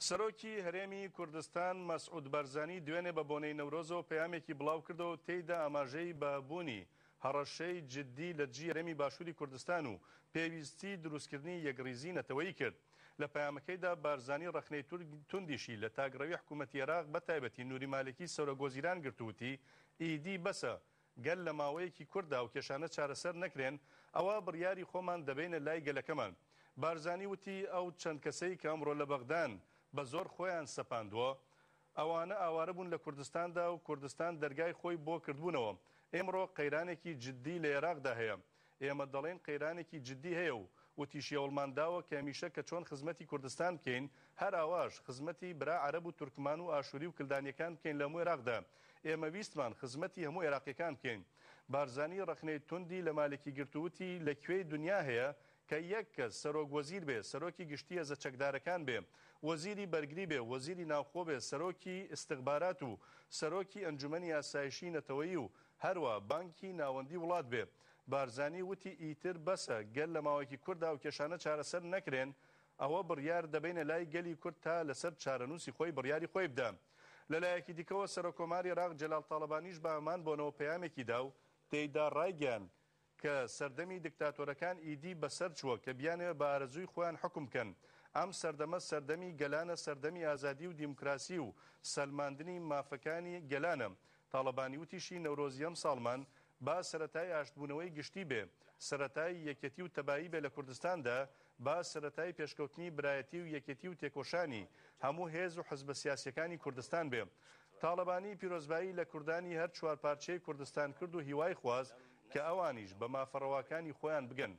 سەرۆکی هەرێمی کوردستان مەسعود بارزانی دوێنێ بە بۆنەی نەورۆزەوە پەیامێکی بڵاوکردەوە و تێیدا ئاماژەی بە بوونی هەڕەشەی جددی لە دژی هەرێمی باشووری کوردستان و پێویستی دروستکردنی یەکڕیزی نەتەوەیی کرد. لە پەیامەکەیدا بارزانی ڕەخنەی توندیشی لە تاکڕەوی حکوومەتی عێراق بە تایبەتی نوری مالکی سەرۆکوەزیران گرت و وتی، ئیدی بەسە، گەر لە ماوەیەکی کورتدا ئەو کێشانە چارەسەر نەکرێن، ئەوا بڕیاری خۆمان دەبەینە لای گەلەکەمان. بارزانی وتی، ئەو چەند کەسەی کە ئەمڕۆ لە بەغدان بە زۆر خۆیان سەپاندووە، ئەوانە ئاوارە بوون لە کوردستاندا و کوردستان دەرگای خۆی بۆ کردبوونەوە. ئیمڕۆ قەیرانێکی جددی لە ئێراقدا هەیە. ئێمە دەڵێین قەیرانێکی جددی هەیە و وتیشی هەوڵمان داوە کە هەمیشە کە چۆن خزمەتی کوردستان بکەین، هەر ئاواش خزمەتی برا عەرەب و تورکمان و ئاشوری و کلدانیەکان بکەین لە هەموو ئێراقدا. ئێمە ویستمان خزمەتی هەموو ئێراقیەکان بکەین. بارزانی ڕەخنەی توندی لە مالکی گرت و وتی لە کوێی دونیا هەیە کە یەک کەس سەرۆک وەزیر بێ، سەرۆکی گشتی هێزە چەکدارەکان بێ، وەزیری بەرگری بێ، وەزیری ناوخۆ بێ، سەرۆکی ئیستخبارات و سەرۆکی ئەنجومەنی ئاسایشی نەتەوەیی و هەروا بانکی ناوەندی وڵات بێ. بارزانی وتی ئیتر بەسە، گەر لە ماوەیەکی کورتدا ئەو کێشانە چارەسەر نەکرێن، ئەوە بڕیار دەبەینە لای گەلی کورد تا لەسەر چارەنووسی خۆی بڕیاری خۆی بدا. لەلایەکی دیکەوە سەرۆککۆماری عێراق جەلال تاڵەبانیش بە هەمان بۆنەوە پەیامێکی دا و تێیدا ڕایگەیاند کە سەردەمی دکتاتۆرەکان ئیدی بەسەر چووە کە بیانەوێ بە ئارەزووی خۆیان حوکم بکەن. ئەم سەردەمە سەردەمی گەلانە سەردەمی ئازادی و دیموکراسی و سەلماندنی مافەکانی گەلانە. تاڵەبانی وتیشی نەورۆزی ئەمساڵمان با سەرەتای ئاشتبوونەوەی گشتی بێ، سەرەتای یەکێتی و تەبایی بێ لە کوردستاندا، با سەرەتای پێشکەوتنی برایەتی و یەکێتی و تێکۆشانی هەموو هێز و حزبە سیاسیەکانی کوردستان بێ. تاڵەبانی پیرۆزبایی لە کوردانی هەر چوارپارچەی کوردستان کرد و هیوای خواست کە ئەوانیش بە مافە ڕەواکانی خۆیان بگەن.